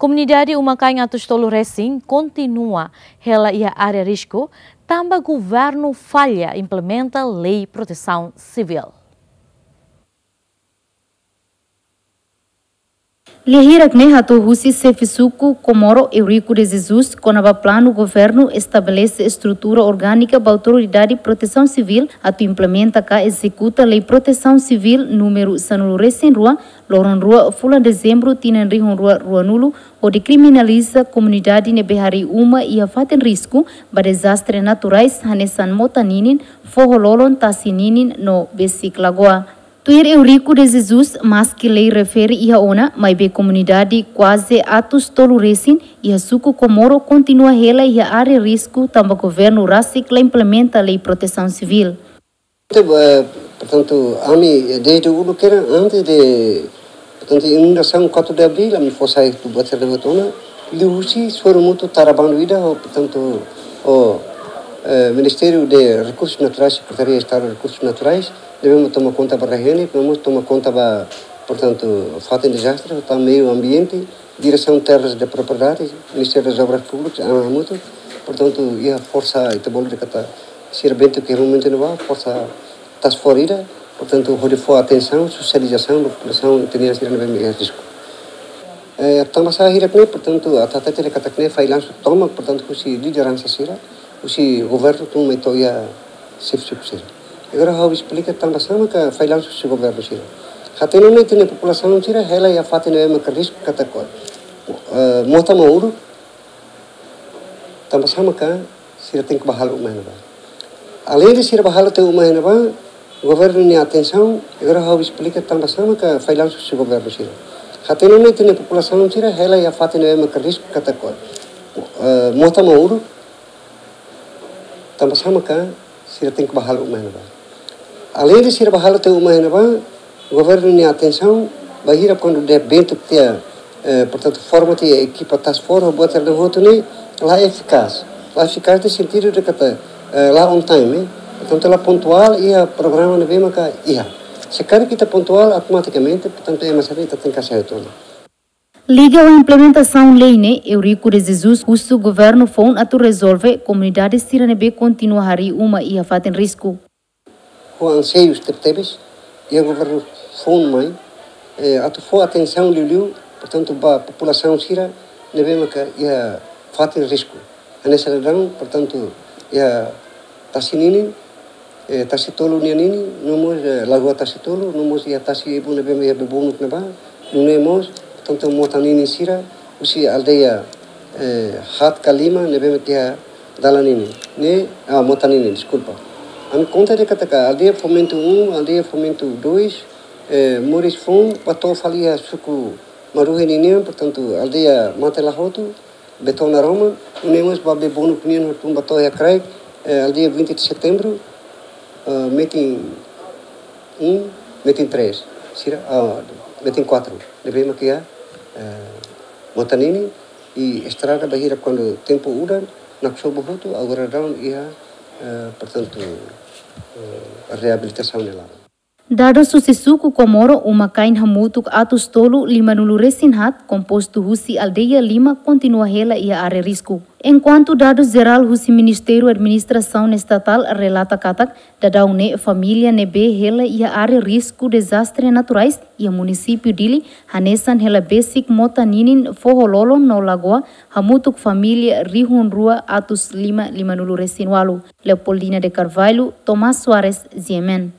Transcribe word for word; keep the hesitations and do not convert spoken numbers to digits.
Komunidade uma-kain atus tolu resin kontinua hela iha área risku, tanba governu falla implementa lei protesaun sivíl. Lia hirak ne'e hato'o husi xefe suku Comoro Eurico de Jesus kona-ba planu governu estabelese estrutura orgánizada ba Autoridade Protesaun Sivíl atu implementa ka ezekuta Lei Protesaun Sivíl númeru sanulu resin rua, loron rua fulan Dezembru tinan rihun rua ruanulu, hodi kriminaliza komunidade ne'ebé harii uma iha fatin risku ba dezastre naturais hanesan mota ninin, foho-lolon, tasi ninin no besik lagoa. Tuir Eurico de Jesus, maski lei refere iha ona, maibé komunidade kuaze atus tolu resin iha suku Comoro kontinua hela iha área risku tanba governu rasik la implementa Lei Protesaun Sivíl. Eh, portantu, ami, eh, dezde uluk kedas, antes de, portantu, inundasaun quatro de abril, ami fó sai tuba terra botona, liuhusi sorumutu tara bandu ida, ho, portantu, ho, eh, Ministériu de Rekursus Naturais, Sekretaria Estadu Rekursus Naturais, ne'ebé mak toma konta ba rai-henek, no mós toma konta ba, portantu, fatin dezastre, tanba meiu ambiente, Diresaun Terras de Propriedade, Ministériu das Obras Públikas, ami hamutuk, portantu, iha forsa ita bolu dehan katak sira bentuk ke momentu ne'ebá, forsa task force ida, portantu, hodi fó atensaun, sosializasaun ba populasaun, ita-nia sira ne'ebé iha risku. Eh, tanba sá hirak ne'e, portantu, atu hatete dehan katak ne'e fallansu tomak, portantu, husi lideransa sira, husi governu tun mai to'o iha xefe suku sira. Agora ha'u esplika tanba sá maka fallansu husi governu sira. Hatene ne'e ita-nia populasaun sira hela iha fatin ne'ebé maka risku katak, eh, mota mak uluk, tanba sá maka sira tenke bá halo uma iha ne'ebá. Aleinde sira bá halo tiha uma iha ne'ebá, governu nia atensaun, agora ha'u esplika tanba sá maka fallansu husi governu sira. Hatene ne'e ita-nia populasaun sira hela iha fatin ne'ebé maka risku katak, eh, mota mak uluk, tanba sá maka sira tenke bá halo uma iha ne'ebá. Aleinde sira bá halo tiha uma iha ne'ebá, governu nia atensaun, bainhira kuandu dehan bentuk tiha, eh, portantu, forma tiha ekipa task force, buat sira-ne'e hotu ne'e, la efikás. La efikás iha sentidu dehan katak, eh, la on time, eh. Portantu, la pontuál iha programa ne'ebé maka iha. Se karik ita pontuál, automatikamente, portantu, ema sira ita tenke hasai hotu ona. Liga ho implementasaun lei ne'e, Eurico de Jesus husu governu foun atu rezolve komunidade sira ne'ebé kontinua harii uma iha fatin risku. Ho anseiu tebetebes, iha governu foun mai, eh, atu fó atensaun liuliu, portantu, ba populasaun sira ne'ebé maka iha fatin risku. Hanesan daudaun, portantu, iha tasi ninin, eh, tasi tolu nia ninin, no mós, eh, lagoa tasi tolu, no mós iha tasi ibun ne'ebé iha bebonuk ne'ebá, nune'e mós, portantu, mota ninin sira, husi aldeia, eh, haat ka lima, ne'ebé mak iha dalan ninin. Ne'e, ah, mota ninin, deskulpa. Ami konta dehan katak aldeia Fomento um, aldeia Fomento dois, eh, moris foun, bá to'o fali iha suku Maruhe ninian, portantu, aldeia Mate Lahotu, Betona Roma, nune'e mós ba bebonuk nian tun bá to'o iha kraik, eh, aldeia vinte de Setembro, eh, metin um, metin três, sira, ah, metin quatro, ne'ebé mak iha, eh, mota ninin, i estrada bainhira kuandu tempu udan, naksobu hotu, agora daudaun iha, eh, portantu, eh, reabilitasaun nia laran. Dadus husi suku Comoro, uma-kain hamutuk atus tolu limanulu resin haat, kompostu husi aldeia lima, kontinua hela iha área risku. Enkuantu dadus jerál husi Ministériu Administrasaun Estatál relata katak, daudaun ne'e família ne'ebé hela iha área risku dezastre naturais iha munisípiu Dili, hanesan hela besik mota ninin, foho-lolon no lagoa, hamutuk família rihun rua atus lima limanulu resin ualu. Leopoldina de Carvalho, Tomás Soares, G M N.